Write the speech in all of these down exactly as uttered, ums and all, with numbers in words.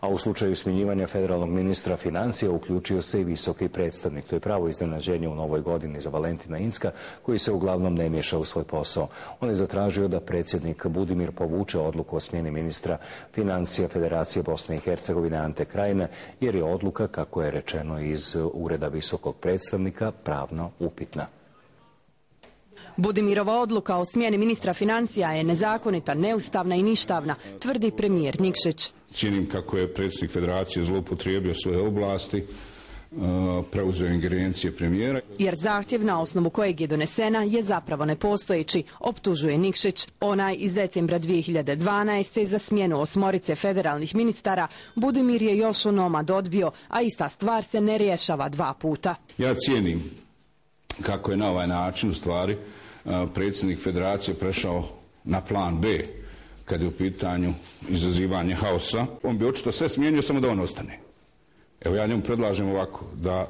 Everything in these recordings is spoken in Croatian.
A u slučaju smjenjivanja federalnog ministra financija uključio se i visoki predstavnik. To je pravo iznenađenje u novoj godini za Valentina Incka, koji se uglavnom ne miješa u svoj posao. On je zatražio da predsjednik Budimir povuče odluku o smjeni ministra financija Federacije Bosne i Hercegovine Ante Krajine, jer je odluka, kako je rečeno iz ureda visokog predstavnika, pravno upitna. Budimirova odluka o smjeni ministra financija je nezakonita, neustavna i ništavna, tvrdi premijer Nikšić. Cijenim kako je predsjednik Federacije zloupotrijebio svoje ovlasti, preuzeo ingerencije premijera. Jer zahtjev na osnovu kojeg je donesena je zapravo nepostojeći, optužuje Nikšić. Onaj iz decembra dvije hiljade dvanaeste. za smjenu osmorice federalnih ministara Budimir je još onomad odbio, a ista stvar se ne rješava dva puta. Ja cijenim kako je na ovaj način u stvari predsjednik Federacije prešao na plan B kad je u pitanju izazivanje haosa. On bi očito sve smijenio samo da on ostane. Evo ja njemu predlažem ovako, da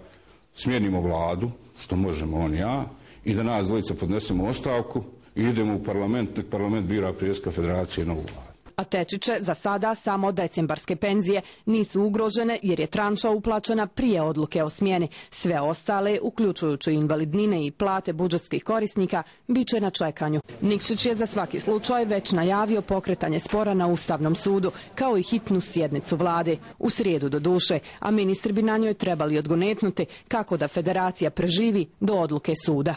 smijenimo vladu, što možemo on i ja, i da nas dvojica podnesemo ostavku i idemo u parlament, nek parlament bira predsjednika Federacije novu vladu. A Tečiće za sada samo decembarske penzije nisu ugrožene jer je tranša uplaćena prije odluke o smjeni. Sve ostale, uključujući invalidnine i plate budžetskih korisnika, bit će na čekanju. Nikšić je za svaki slučaj već najavio pokretanje spora na Ustavnom sudu, kao i hitnu sjednicu vlade. U srijedu do duše, a ministri bi na njoj trebali odgonetnuti kako da Federacija preživi do odluke suda.